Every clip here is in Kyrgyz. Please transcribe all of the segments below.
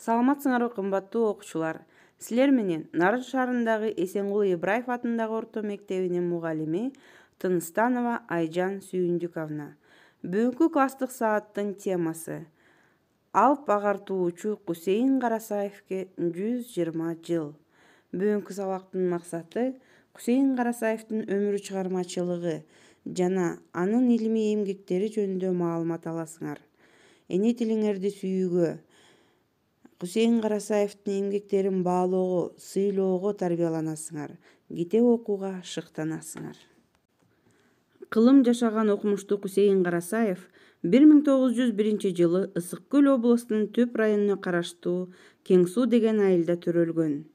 Саламатсыңарбы кымбаттуу окуучулар. Силер менен Нарын шаарындагы Эсенгул Ибраев атындагы орто мектебинин мугалими Тыныстанова Айжан Сүйүндүковна. Бүгүнкү класстык сааттын темасы Алп агартуучу Кусейин Карасаевке 120 жыл. Бүгүнкү сабактын максаты Кусейин Карасаевдин өмүр чыгармачылыгы жана анын илимий эмгектери жөнүндө маалымат аласыңар. Эне тилиңерди сүйүүгө, Кусейин Карасаевдин эмгектерин баалоого, сыйлоого тарбияланасыңар, китеп окууга шыктанасыңар. Кылым жашаган окумуштуу Кусейин Карасаев 1901 жылы Ысык Көл областынын Төп районуна караштуу Кең Суу деген айылда төрөлгөн.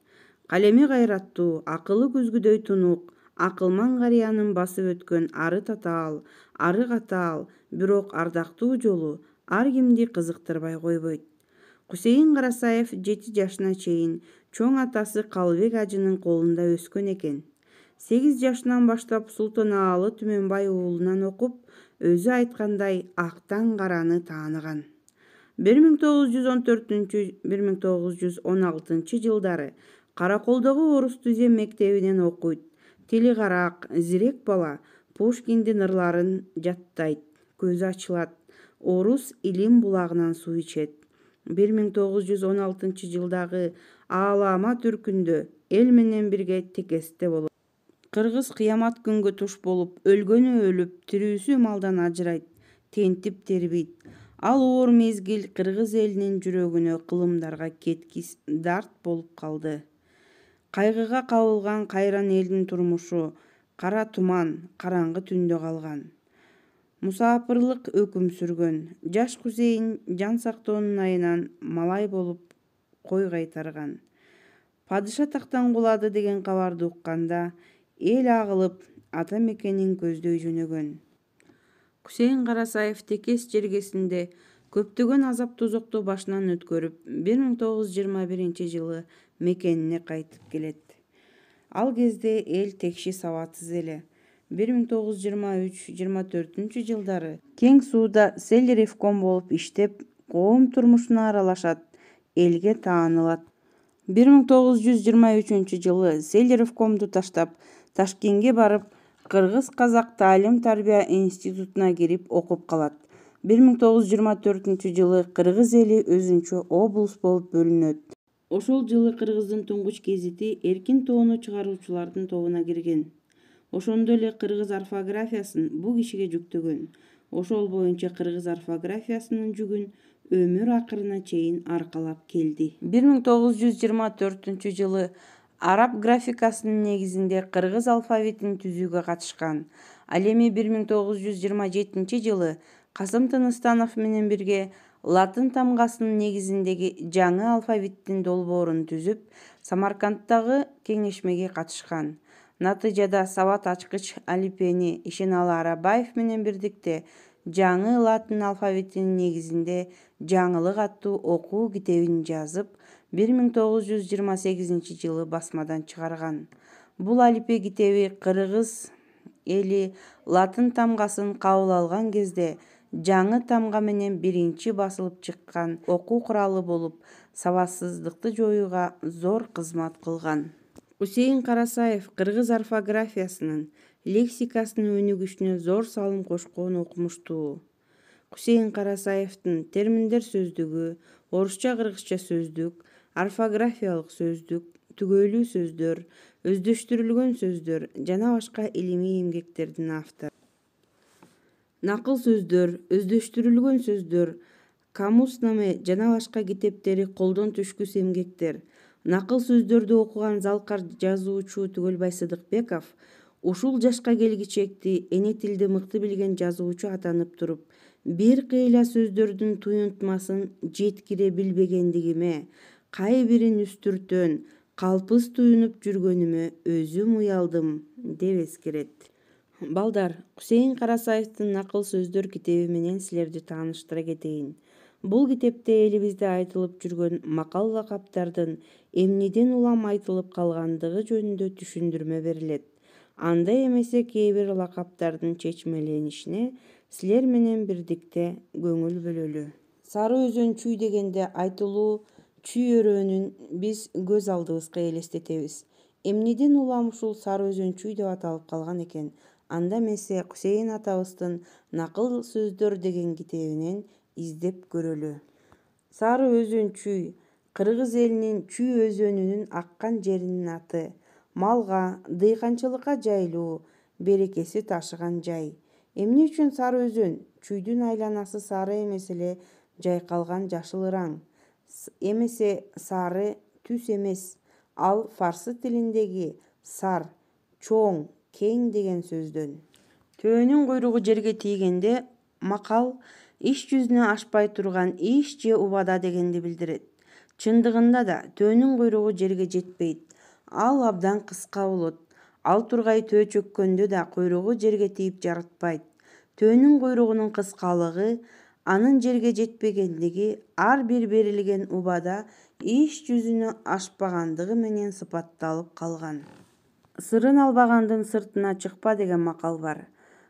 Калеми кайраттуу, акылы күзгүдөй тунук, акылман карыянын басып өткөн ары татаал, ары катаал, бирок ардактуу жолу ар кимди кызыктырбай койбойт. Кусейин Карасаев 7 жашына чейин чоң атасы Калыбек ажынын колунда өскөн экен. 8 жашынан баштап Султанаалы Түмөнбай уулунан окуп, өзү айткандай актан караны тааныган. 1914-1916 жылдары Караколдогу Орус Түзем мектебинен окуйт. Тили карак, зирек бала, Пушкиндин ырларын жаттайт, көзү ачылат, орус илим булагынан суу ичет. 1916 жылдагы Аалама түркүндө эл менен бирге текесте болот. Кыргыз кыямат күнгө туш болуп, өлгөнү өлүп, тирүүсү малдан ажырайт, тентип тербейт. Ал оор мезгил кыргыз элинин жүрөгүнө кылымдарга кеткис дарт болуп калды. Кайгыга кабылган кайран элдин турмушу кара туман, караңгы түндө калган. Мусапырлык өкүм сүргөн. Жаш Кусейин жан сактоонун айынан малай болуп кой кайтарган. Падыша тактан кулады деген кабарды укканда эл агылып ата мекенин көздөй жөнөгөн. Кусейин Карасаев текес жергесинде көптөгөн азап тозокту башынан өткөрүп, 1921 жылы мекенине кайтып келет. Ал кезде эл текши сабатсыз эле. 1923-24 жылдары Кең Сууда Селлеревком болуп иштеп, коом турмушуна аралашат, элге таанылат. 1923 жылы Селлеревкомду таштап, Ташкентке барып, Кыргыз-Казак таалим-тарбия институтуна кирип окуп калат. 1924 жылы кыргыз эли өзүнчө облус болуп бөлүнөт. Ошол жылы Кыргыздын туңгуч гезити Эркин тоону чыгаруучулардын тобуна кирген. Ошондо эле кыргыз орфографиясын бул кишиге жүктөгөн. Ошол боюнча кыргыз орфографиясынын жүгүн өмүр акырына чейин аркалап келди. 1924 жылы араб графикасынын негизинде кыргыз алфавитин түзүүгө катышкан. Ал эми 1927 жылы Касым Тыныстанов менен бирге латын тамгасынын негизиндеги жаңы алфавиттин долбоорун түзүп, Самаркандтагы кеңешмеге катышкан. Натыйжада сабат ачкыч алифбени Ишеналы Арабаев менен бирдикте жаңы латын алфавитинин негизинде жаңылык аттуу окуу китебин жазып, 1928 жылы басмадан чыгарган. Бул алифбе китеби кыргыз эли латын тамгасын кабыл алган кезде жаңы тамга менен биринчи басылып чыккан окуу куралы болуп, сабатсыздыкты жоюуга зор кызмат кылган. Кусейин Карасаев кыргыз орфографиясынын, лексикасынын өнүгүшүнө зор салым кошкон окумуштуу. Кусейин Карасаевдин терминдер сөздүгү, орусча-кыргызча сөздүк, орфографиялык сөздүк, түгөйлүү сөздөр, өздөштүрүлгөн сөздөр жана башка илимий эмгектердин автору. Накыл сөздөр, өздөштүрүлгөн сөздөр, камуснаме жана башка китептери колдон түшкүс эмгектер. Накыл сөздөрдү окуган залкар жазуучу Түгөлбай Сыдыкбеков ушул жашка келгичекти эне тилди мыкты билген жазуучу атанып туруп, бир кыйла сөздөрдүн туюнтмасын жеткире билбегендигиме, кайбирин үстүртөн, калпыз туюнуп жүргөнүмө өзүм уялдым, деп эскерет. Балдар, Кусейин Карасаевдин накыл сөздөр китеби менен силерди тааныштыра кетейин. Бул китепте элибизде айтылып жүргөн макал-лакаптардын эмнеден улам айтылып калгандыгы жөнүндө түшүндүрмө берилет. Андай эмесе кээ бир лакаптардын чечмеленишине силер менен бирдикте көңүл бөлөлү. Сары өзөн чүй дегенде айтылуу чүй өрөөнүн биз көз алдыбызга элестетебиз. Эмнеден улам ушул Сары Өзөн чүй деп аталып калган экен? Анда эмесе Кусейин атабыздын Накыл сөздөр деген китебинен издеп көрөлү. Сары Өзөн чүй кыргыз элинин Чүй өзөнүнүн аккан жеринин аты. Малга, дыйканчылыкка жайлуу, берекеси ташыган жай. Эмне үчүн Сары Өзөн? Чүйдүн айланасы сары эмес эле жайкалган жашыл ыран. Эмесе сары түс эмес. Ал фарсы тилиндеги сар, чоң, кең деген сөздөн. Төөнүн куйругу жерге тийгенде макал иш жүзүнө ашпай турган иш же убада дегенди билдирет. Чындыгында да төөнүн куйругу жерге жетпейт. Ал абдан кыска болот. Ал тургай төө чөккөндө да куйругу жерге тийип жаратпайт. Төөнүн куйругунун кыскалыгы, анын жерге жетпегендиги ар бир берилген убада иш жүзүнө ашпагандыгы менен сыпатталып калган. Сырын албагандын сыртына чыкпа деген макал бар.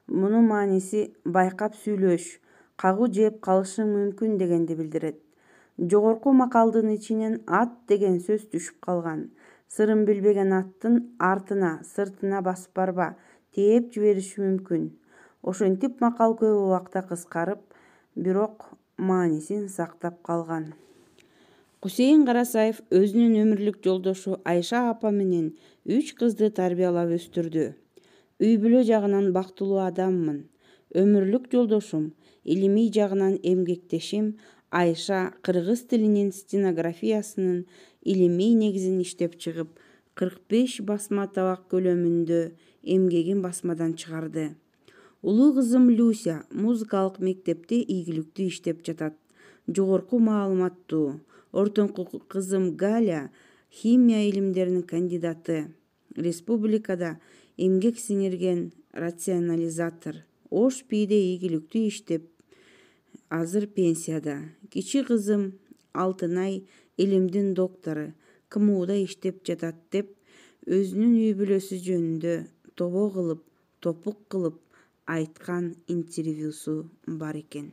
Мунун мааниси байкап сүйлөш, кагуу жеп калышың мүмкүн дегенди билдирет. Жогорку макалдын ичинен ат деген сөз түшүп калган. Сырын билбеген аттын артына, сыртына басып барба, тээп жибериши мүмкүн. Ошентип макал көп убакта кыскарып, бирок маанисин сактап калган. Кусейин Карасаев өзүнүн өмүрлүк жолдошу Айша апа менен 3 кызды тарбиялап өстүрдү. Үй бүлө жагынан бактылуу адаммын. Өмүрлүк жолдошум, илимий жагынан эмгектешим Айша кыргыз тилинин стенографиясынын илимий негизин иштеп чыгып, 45 басма табак көлөмүндө эмгегин басмадан чыгарды. Улуу кызым Люся музыкалык мектепте ийгиликтүү иштеп жатат. Жогорку маалыматтуу. Ортоңку кызым Галя химия илимдеринин кандидаты. Республикада эмгек сиңирген рационализатор. Ош бийде ийгиликтүү иштеп, азыр пенсияда. Кичи кызым Алтынай илимдин доктору, КМУда иштеп жатат деп өзүнүн үй бүлөсү жөнүндө тобо кылып, топук кылып айткан интервьюсу бар экен.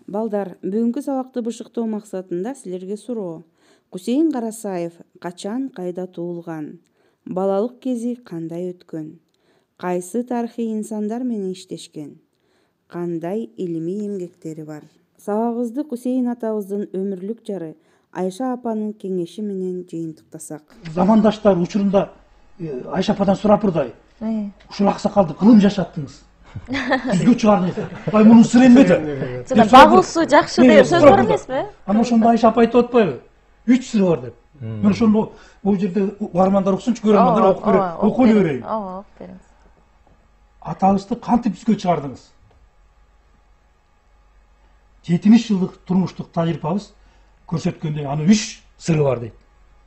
Балдар, бүгүнкү сабакты бышыктоо максатында силерге суроо. Кусейин Карасаев качан, кайда туулган? Балалык кези кандай өткөн? Кайсы тарыхый инсандар менен иштешкен? Кандай илимий эмгектери бар? Сабагыбызды Кусейин атабыздын өмүрлүк жары Айша апанын кеңеши менен жыйынтыктасак. Замандаштар учурунда Айша ападан сурапырдай. Ушул аксакалды кылым жашаттыңыз. Жүзгө чыгардыңыз. Ай мунун сыры эмнеде? Багылсуу жакшы деген сөз бар эмеспи? Ана ошондо Айша апа айтып атпайбы? 3 сыры бар деп. Мен ошондо бул жерде угармандар уксунчу, көрөрмандар окуп берейин. Ооба, окуп бериңиз. Атабызды кантип жүзгө чыгардыңыз? 70 жылдык турмуштук тажрыйбабыз көрсөткөндөй анын 3 сыры бар дейт.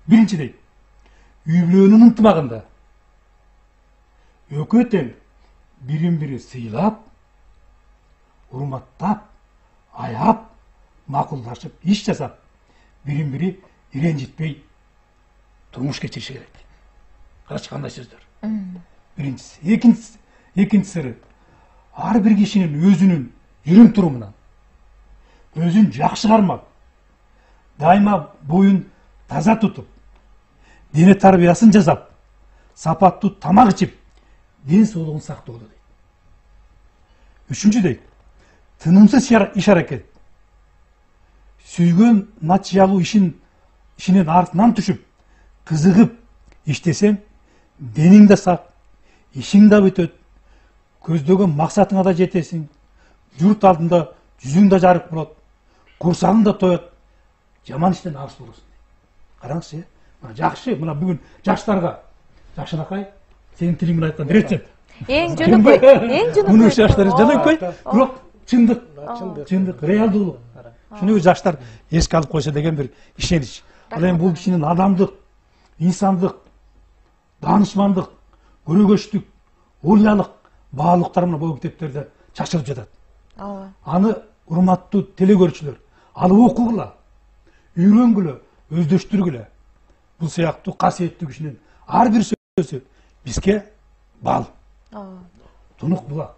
Биринчи дейт, үй бүлөнүн ынтымагында экөө тең бирин бири сыйлап, урматтап, аяп, макулдашып, иш жасап, бирин бири ренжитпей турмуш кечириши керек. Карачы кандай сөздөр. Биринчиси. Экинчи сыры, ар бир кишинин өзүнүн жүрүм турумунан өзүн жакшы кармап, дайыма боюн таза тутуп, дене тарбиясын жасап, сапаттуу тамак ичип, ден соолугун сактоодо дейт. Үчүнчү дейт, тынымсыз иш аракет. Сүйгөн натыйжалуу ишинин артынан түшүп, кызыгып иштесең, денең да сак, ишиң да бүтөт, көздөгөн максатыңа да жетесиң, журт алдында жүзүң да жарык болот, курсагың да тоет, жаман иштен алыс болосуң. Караңызчы, мына жакшы, мына бүгүн жаштарга, жакшынакай, сенин тилиң менен айтканда рецепт. Эң жөнөкөй. Муну жаштар жөнөкөй, бирок чындык, реалдуулук. Шуну жаштар эске алып койсо деген бир ишенич. Ал эми бул кишинин адамдык, инсандык, даанышмандык, көрөгөчтүк, уялык баалыктары менен бул китептерде чачылып жатат. Аны урматтуу телекөрүүчүлөр алып окугула, үйрөнгүлө, өздөштүргүлө. Бул сыяктуу касиеттүү кишинин ар бир сөзү бизге бал. Тунук булак.